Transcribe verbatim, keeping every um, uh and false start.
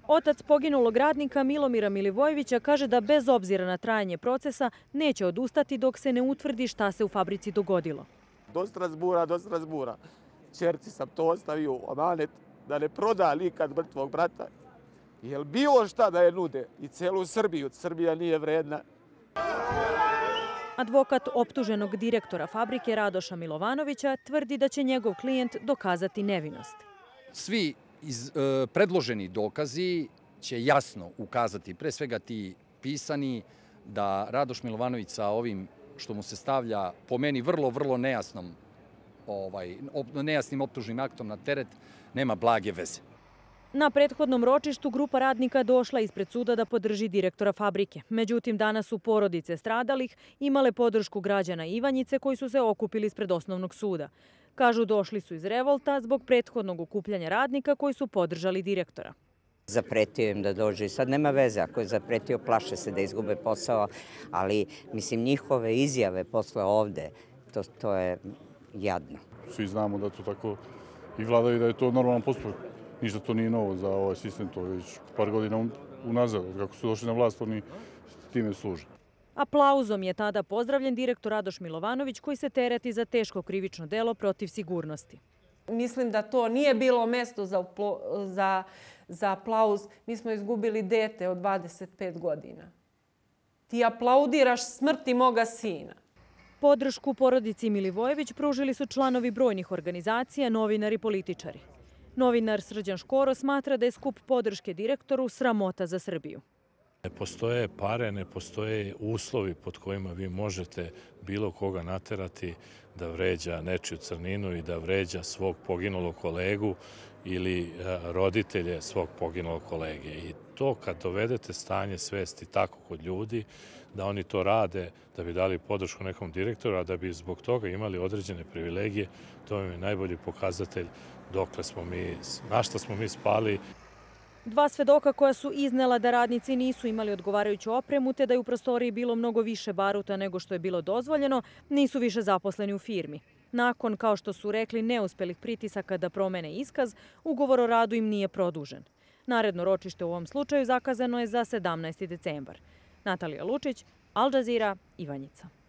Otac poginulog radnika Milomira Milivojevića kaže da bez obzira na trajanje procesa neće odustati dok se ne utvrdi šta se u fabrici dogodilo. Do Strasbura, do Strasbura. Čerci sam to ostavio u amanet da ne proda nikad mrtvog brata. Jel bilo šta da je nude i celu Srbiju, Srbija nije vredna. Advokat optuženog direktora fabrike Radoša Milovanovića tvrdi da će njegov klijent dokazati nevinost. Svi iz, e, predloženi dokazi će jasno ukazati, pre svega ti pisani, da Radoš Milovanović sa ovim što mu se stavlja po meni vrlo, vrlo nejasnom, ovaj, op, nejasnim optužnim aktom na teret, nema blage veze. Na prethodnom ročištu grupa radnika došla ispred suda da podrži direktora fabrike. Međutim, danas su porodice stradalih imale podršku građana Ivanjice koji su se okupili ispred osnovnog suda. Kažu došli su iz revolta zbog prethodnog okupljanja radnika koji su podržali direktora. Zapretio im da dođe i sad nema veze, ako je zapretio plaše se da izgube posao, ali mislim njihove izjave posle ovde, to, to je jadno. Svi znamo da to tako i vlada i da je to normalan postupak. Ništa to nije novo za ovaj sistem, to je već par godina unazad, kako su došli na vlast, oni time služe. Aplauzom je tada pozdravljen direktor Radoš Milovanović koji se tereti za teško krivično delo protiv sigurnosti. Mislim da to nije bilo mesto za, za, za aplauz. Mi smo izgubili dete od dvadeset pet godina. Ti aplaudiraš smrti moga sina. Podršku porodici Milivojević pružili su članovi brojnih organizacija, novinari i političari. Novinar Srđan Škoro smatra da je skup podrške direktoru sramota za Srbiju. Ne postoje pare, ne postoje uslovi pod kojima vi možete bilo koga naterati da vređa nečiju crninu i da vređa svog poginulog kolegu ili roditelje svog poginulog kolege. I to kad dovedete stanje svesti tako kod ljudi, da oni to rade da bi dali podršku nekom direktoru, a da bi zbog toga imali određene privilegije, to je najbolji pokazatelj dokle smo mi, na šta smo mi spali. Dva svedoka koja su iznela da radnici nisu imali odgovarajuću opremu te da je u prostoriji bilo mnogo više baruta nego što je bilo dozvoljeno, nisu više zaposleni u firmi. Nakon, kao što su rekli, neuspelih pritisaka da promene iskaz, ugovor o radu im nije produžen. Naredno ročište u ovom slučaju zakazano je za sedamnaesti decembar. Natalija Lučić, Al Jazeera, Ivanjica.